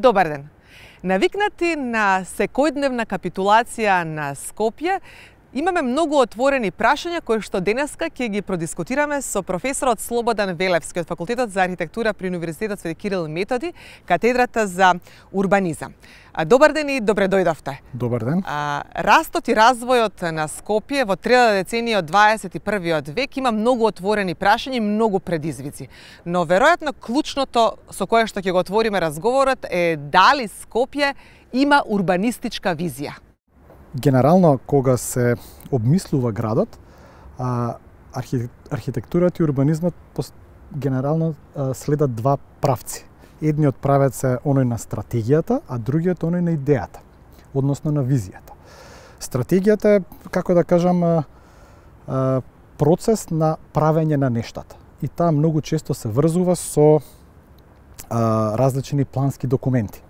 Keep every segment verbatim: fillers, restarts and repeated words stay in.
Добар ден! Навикнати на секојдневна капитулација на Скопје, имаме многу отворени прашања кои што денеска ќе ги продискутираме со професорот Слободан Велевски од Факултетот за архитектура при Универзитетот Свети Кирил и Методи, катедрата за урбанизам. Добар ден и добре дојдовте. Добар ден. А, растот и развојот на Скопје во третата деценија од дваесет и првиот век има многу отворени прашања и многу предизвици. Но веројатно клучното со кое што ќе го отвориме разговорот е дали Скопје има урбанистичка визија. Генерално, кога се обмислува градот, а, архи, архитектурата и урбанизмот генерално а, следат два правци. Едниот правец е оној на стратегијата, а другиот оној на идејата, односно на визијата. Стратегијата е, како да кажам, а, а, процес на правење на нештата. И таа многу често се врзува со а, различни плански документи,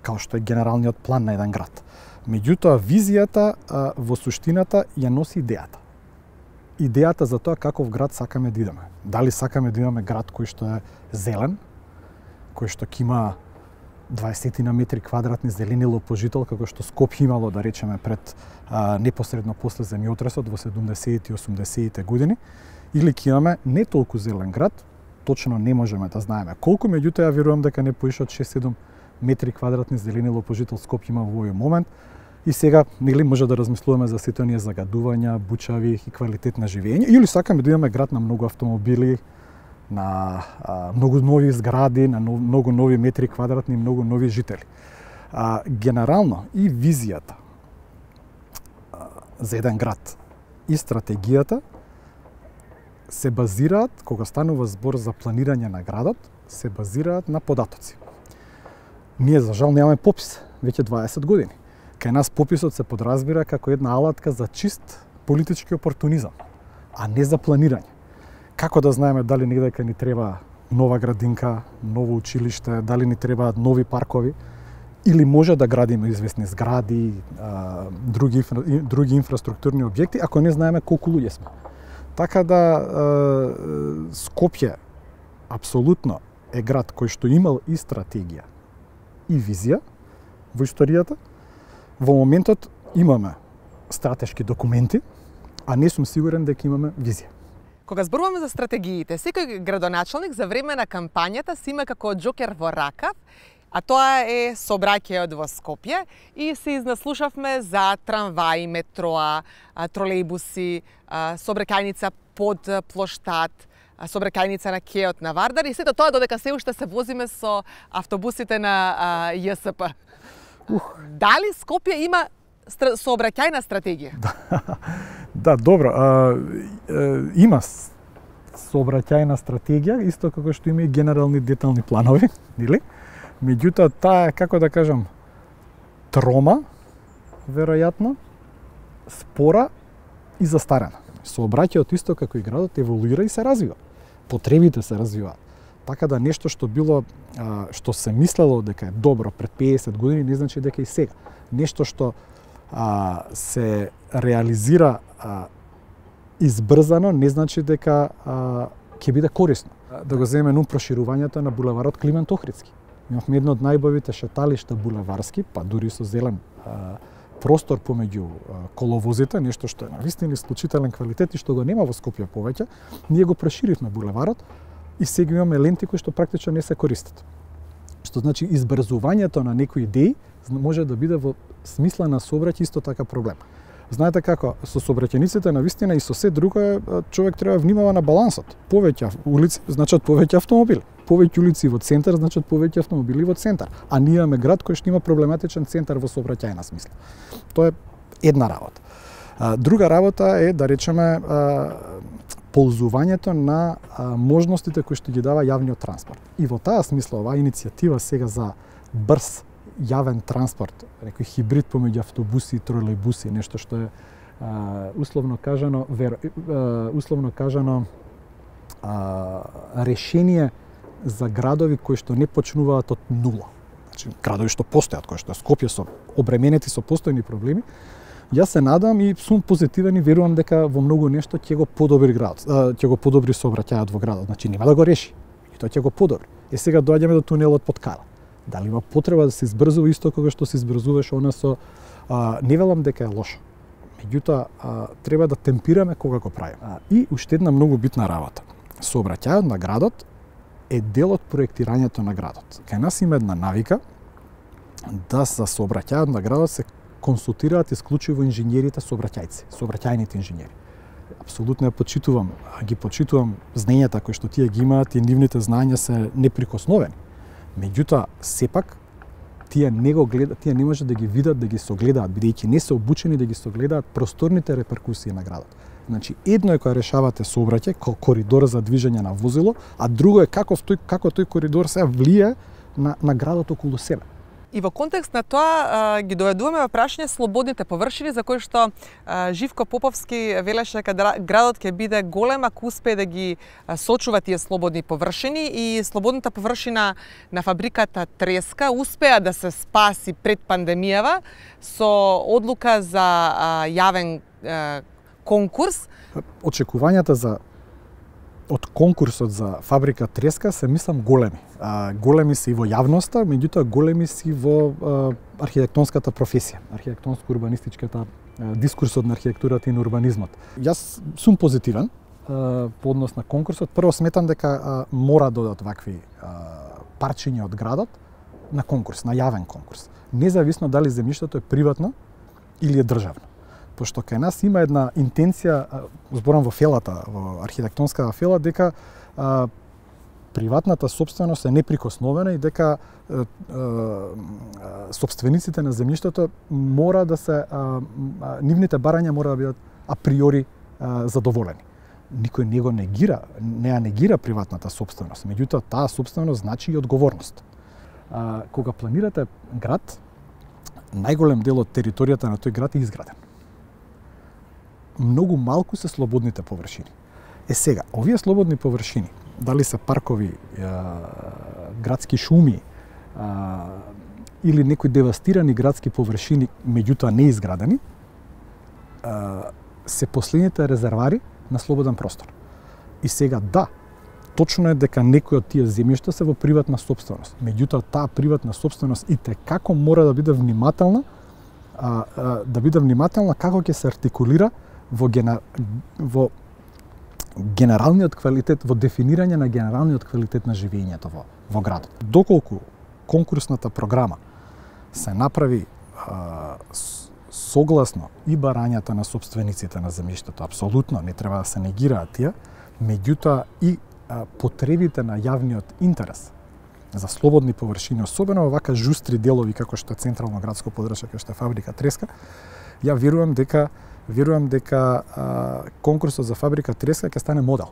као што е генералниот план на еден град. Меѓутоа, визијата а, во суштината ја носи идејата. Идејата за тоа каков град сакаме да идеме. Дали сакаме да имаме град кој што е зелен, кој што ќе има дваесет на метри квадратни зелени лопожител, како што Скопје имало, да речеме, пред а, непосредно после земјотресот во седумдесетите и осумдесетите години, или ќе имаме не толку зелен град, точно не можеме да знаеме колку, меѓутоа ја верувам дека не поише од шест-седум метри квадратни зелени лопожител Скопје има во овој момент. И сега, нели, може да размислуваме за сите оние загадувања, бучави и квалитет на живење, или сакаме да имаме град на многу автомобили, на а, многу нови згради, на нов, многу нови метри квадратни, многу нови жители. А, генерално и визијата а, за еден град и стратегијата се базираат, кога станува збор за планирање на градот, се базираат на податоци. Ние, за жал, немаме попис веќе дваесет години. Кај нас пописот се подразбира како една алатка за чист политички опортунизам, а не за планирање. Како да знаеме дали негде ни треба нова градинка, ново училиште, дали ни треба нови паркови, или може да градиме известни згради, а, други, други инфраструктурни објекти, ако не знаеме колку луѓе сме. Така да а, Скопје апсолутно е град кој што имал и стратегија и визија во историјата. Во моментот имаме стратешки документи, а не сум сигурен дека имаме визија. Кога зборуваме за стратегиите, секој градоначалник за време на кампањата си има како џокер во ракав, а тоа е сообраќајот во Скопје, и се изнаслушавме за трамваи, метроа, тролејбуси, сообраќајница под плоштад, сообраќајница на кеот на Вардар, и сето тоа додека се уште се возиме со автобусите на Ј С П. Ух. Дали Скопје има стра... сообраќајна стратегија? Да, добро. А, а, има сообраќајна стратегија, исто како што има и генерални детални планови, нели? Меѓутоа, таа е, како да кажам, трома, веројатно, спора и застарена. Сообраќајот исто како и градот еволуира и се развива. Потребите се развиваат. Така да нешто што било, а, што се мислело дека е добро пред пеесет години, не значи дека и сега. Нешто што а, се реализира а, избрзано, не значи дека а, ќе биде корисно. Да го земеме нум проширувањето на булеварот Климент Охридски. Имавме едно од најбавите шеталишта булеварски, па дури со зелен а, простор помеѓу а, коловозите, нешто што е навистина исклучителен квалитет и што го нема во Скопје повеќе. Ние го проширивме булеварот и сега имаме ленти кои што практично не се користат. Што значи избрзувањето на некои идеи може да биде во смисла на сообраќај исто така проблем. Знаете како, со сообраќајниците навистина и со се друго е, човек треба внимава на балансот. Повеќе улици значат повеќе автомобили. Повеќе улици во центар значат повеќе автомобили во центар. А ние имаме град кој што има проблематичен центар во сообраќајна смисла. Тоа е една работа. Друга работа е, да речеме, ползувањето на можностите кои што ги дава јавниот транспорт. И во таа смисла оваа иницијатива сега за брз јавен транспорт, некој хибрид помеѓу автобуси и тролејбуси, нешто што е а, условно кажано, вер, а, условно кажано а, решение за градови кои што не почнуваат од нула. Значи, градови што постојат, кои што Скопје со обременети со постојни проблеми, јас се надам и сум позитивен и верувам дека во многу нешто ќе го подобри градот, ќе го подобри сообраќајот во градот. Значи нема да го реши, и тоа ќе го подобри. Е сега доаѓаме до тунелот под Кала. Дали има потреба да се избрзува исто кога што се избрзуваше она со а, не велам дека е лошо. Меѓутоа а, треба да темпираме кога го правиме. А, и уште една многу битна работа. Сообраќајот на градот е дел од проектирањето на градот. Кај нас има една навика да за сообраќајот на градот се консултираат исклучиво инженерите сообраќајци, сообраќајните инженери. Апсолутно ја почитувам, ги почитувам знаењата кои што тие ги имаат и нивните знаења се неприкосновени. Меѓутоа, сепак тие не го гледат, тие не може да ги видат, да ги согледаат, бидејќи не се обучени да ги согледаат просторните реперкусии на градот. Значи, едно е кога решавате сообраќај, коридор за движење на возило, а друго е како тој, како тој коридор се влие на, на градот околу себе. И во контекст на тоа ги доведуваме во прашање слободните површини, за кои што Живко Поповски велеше дека градот ќе биде голем ако успее да ги сочува тие слободни површини, и слободната површина на фабриката Треска успеа да се спаси пред пандемијава со одлука за јавен конкурс. Очекувањата за од конкурсот за фабрика Треска се мислам големи. А, големи се и во јавноста, меѓутоа големи се и во а, архитектонската професија, архитектонско-урбанистичката дискурсот на архитектурата и на урбанизмот. Јас сум позитивен а, по однос на конкурсот. Прво сметам дека а, мора да додат вакви а, парчиња од градот на конкурс, на јавен конкурс. Независно дали земјиштето е приватно или е државно. Пошто кај нас има една интенција, зборам во фелата, во архитектонската фела, дека а, приватната собственост е неприкосновена и дека а, а, собствениците на земјиштето мора да се а, а, нивните барања мора да бидат априори а, задоволени. Никој не го негира, не ја негира приватната собственост, меѓутоа таа собственост значи и одговорност. А, кога планирате град, најголем дел од територијата на тој град е изграден. Многу малку се слободните површини. Е сега, овие слободни површини, дали се паркови, е, градски шуми, е, или некои девастирани градски површини, меѓутоа не изградени, е, се последните резервари на слободен простор. И сега да, точно е дека некои од тие земјишта се во приватна собственост. Меѓутоа таа приватна собственост и те како мора да биде внимателна, а, а, да биде внимателна како ќе се артикулира во, гена, во генералниот квалитет, во дефинирање на генералниот квалитет на живењето во, во градот. Доколку конкурсната програма се направи а, согласно и барањата на собствениците на земјиштето, апсолутно не треба да се негираат тие, меѓутоа и а, потребите на јавниот интерес за слободни површини, особено во вака жустри делови како што е централно градско подрачје, како што е фабрика Треска, ја верувам дека верувам дека а, конкурсот за фабрика Треска ќе стане модел.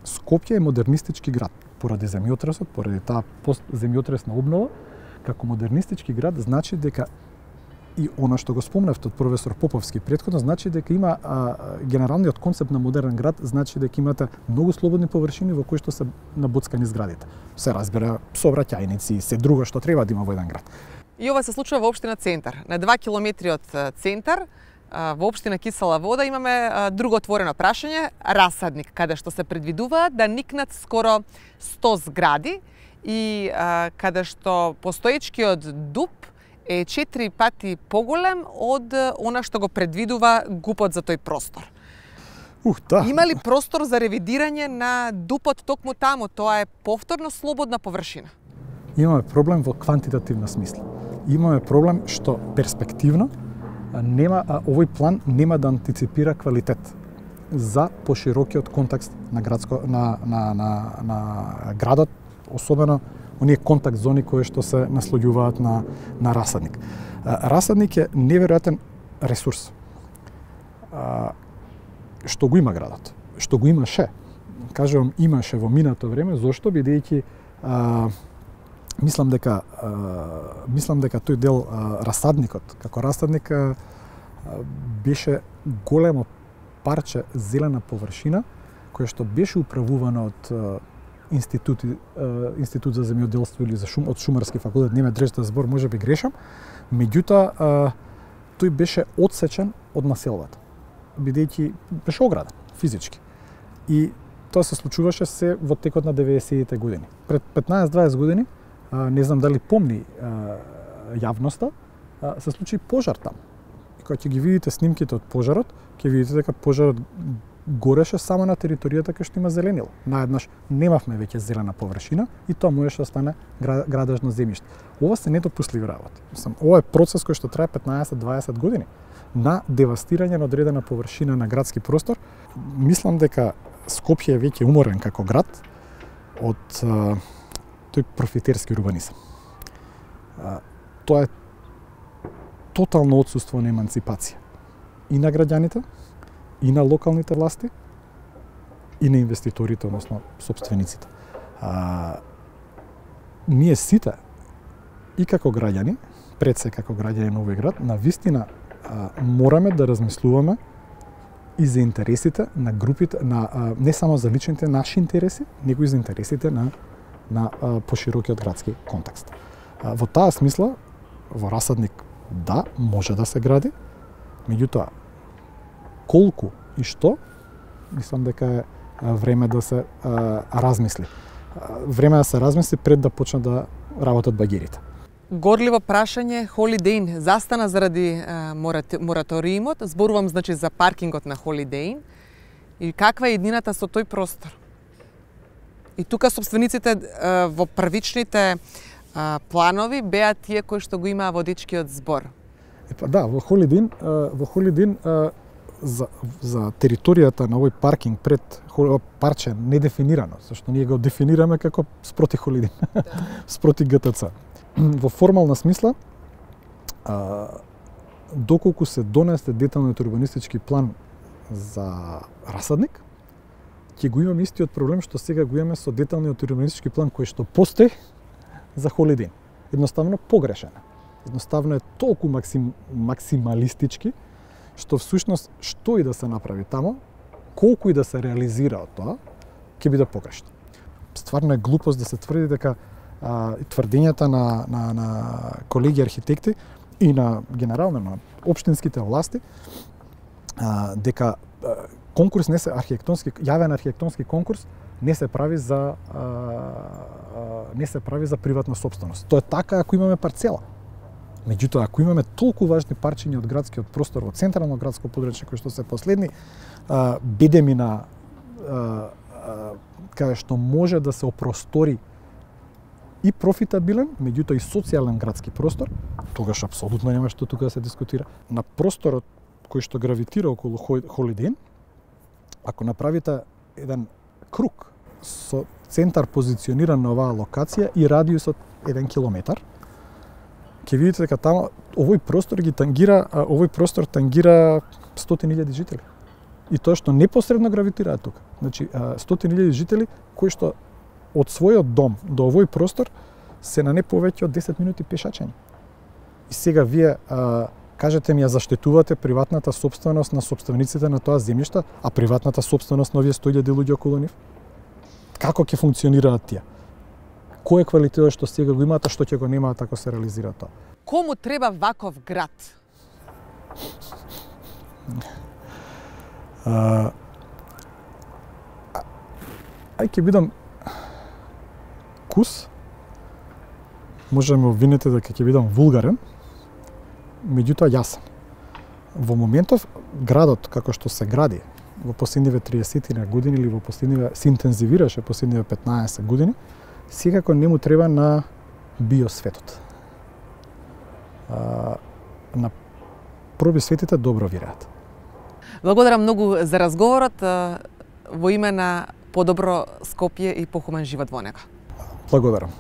Скопје е модернистички град поради земјотресот, поради таа постземјотресна обнова, како модернистички град значи дека и она што го спомнавте од професор Поповски претходно, значи дека има а, генералниот концепт на модерен град, значи дека имате многу слободни површини во кои што се набоцкани зградите. Се разбира, сообраќајници и се друго што треба да има во еден град. И ова се случува во општина Центар. На два километри од Центар, во општина Кисела Вода, имаме друго отворено прашање, расадник, каде што се предвидуваат да никнат скоро сто згради и а, каде што постоечкиот дуб е четири пати поголем од она што го предвидува ГУПот за тој простор. Ух, да. Има ли простор за ревидирање на дупот токму таму? Тоа е повторно слободна површина. Имаме проблем во квантитативна смисла. Имаме проблем што перспективно нема, а, овој план нема да антиципира квалитет за поширокиот контекст на градско на на на, на градот, особено оние контакт зони кои што се наслоѓуваат на на расадник. А, расадник е неверојатен ресурс. А, што го има градот, што го имаше. Кажувам имаше во минато време, зошто бидејќи а, мислам дека а, мислам дека тој дел а, расадникот, како расадник а, беше големо парче зелена површина која што беше управувана од а, институт а, институт за земјоделство или за шум од шумарски факултет, не ме држите збор, можеби грешам, меѓутоа а, тој беше одсечен од населбата, бидејќи беше ограден физички. И тоа се случуваше се во текот на деветдесетите години. Пред петнаесет-дваесет години не знам дали помни јавноста, се случи пожар там. И кога ќе ги видите снимките од пожарот, ќе видите дека пожарот гореше само на територијата кај што има зеленило. Наеднаш немавме веќе зелена површина и тоа можеше да стане градежно земјиште. Ова се недопустливи работи. Мислам, ова е процес кој што трае петнаесет до дваесет години на девастирање на одредена површина на градски простор. Мислам дека Скопје е веќе уморен како град од а, тој профитерски урбанизам. А, тоа е тотално отсуство на еманципација и на граѓаните, и на локалните власти, и на инвеститорите, односно собствениците. А, ние сите, и како граѓани, пред се како граѓани на овој град, на вистина а, мораме да размислуваме и за интересите на групите, на, а, не само за личните наши интереси, него и за интересите на, на а, поширокиот градски контекст. А, во таа смисла, во Расадник, да, може да се гради, меѓутоа, колку и што, мислам дека е време да се а, размисли. Време да се размисли пред да почнат да работат багерите. Горливо прашање, Холидейн застана заради а, мораториумот, зборувам значи за паркингот на Холидейн, и каква е едината со тој простор? И тука собствениците а, во првичните а, планови беа тие кои што го имаа водичкиот збор. Епа да, во Холидейн, а, во Холидейн а, за, за територијата на овој паркинг пред парче недефинирано, зашто ние го дефинираме како спроти Холидейн, да. Спроти ГТЦ. Во формална смисла, а, доколку се донесе деталниот урбанистички план за Расадник, ќе го имаме истиот проблем што сега го имаме со деталниот урбанистички план кој што постои за Холидейн. Едноставно погрешен. Едноставно е толку максим, максималистички, што всушност што и да се направи тамо, колку и да се реализира од тоа, ќе биде погрешно. Стварно е глупост да се тврди дека а, тврдењата на, на, на колеги архитекти и на генерално на општинските власти а, дека а, конкурс не се архитектонски јавен архитектонски конкурс не се прави за а, а, не се прави за приватна сопственост. Тоа е така ако имаме парцела. Меѓутоа, ако имаме толку важни парчиња од градскиот простор во централно градско подрачје кои што се последни а, бедеми на а, а, каде што може да се опростори и профитабилен, меѓутоа и социјален градски простор, тогаш апсолутно нема што тука да се дискутира. На просторот кој што гравитира околу Холидейн, ако направите еден круг со центар позициониран на оваа локација и радиусот еден километар, ќе видите дека таму овој простор ги тангира, овој простор тангира стотини илјади жители. И тоа што непосредно гравитираат тука. Значи стотини илјади жители кои што од својот дом до овој простор се на не повеќе од десет минути пешачење. И сега вие а, кажете ми ја заштитувате приватната сопственост на сопствениците на тоа земјиште, а приватната сопственост на овие сто илјади луѓе околу нив? Како ќе функционираат тие? Кој е квалитетот што сега го имаат, а што ќе го немаат ако се реализира тоа? Кому треба ваков град? А, ај ќе бидам кус, може да ме обвините дека ќе бидам вулгарен, меѓутоа јасен. Во моментов градот како што се гради во последниве триесет години или во последниве се интензивираше последниве петнаесет години, секако не му треба на биосветот. А, на проби светите добро вираат. Благодарам многу за разговорот во име на подобро Скопје и похуман живот во него. Благодарам.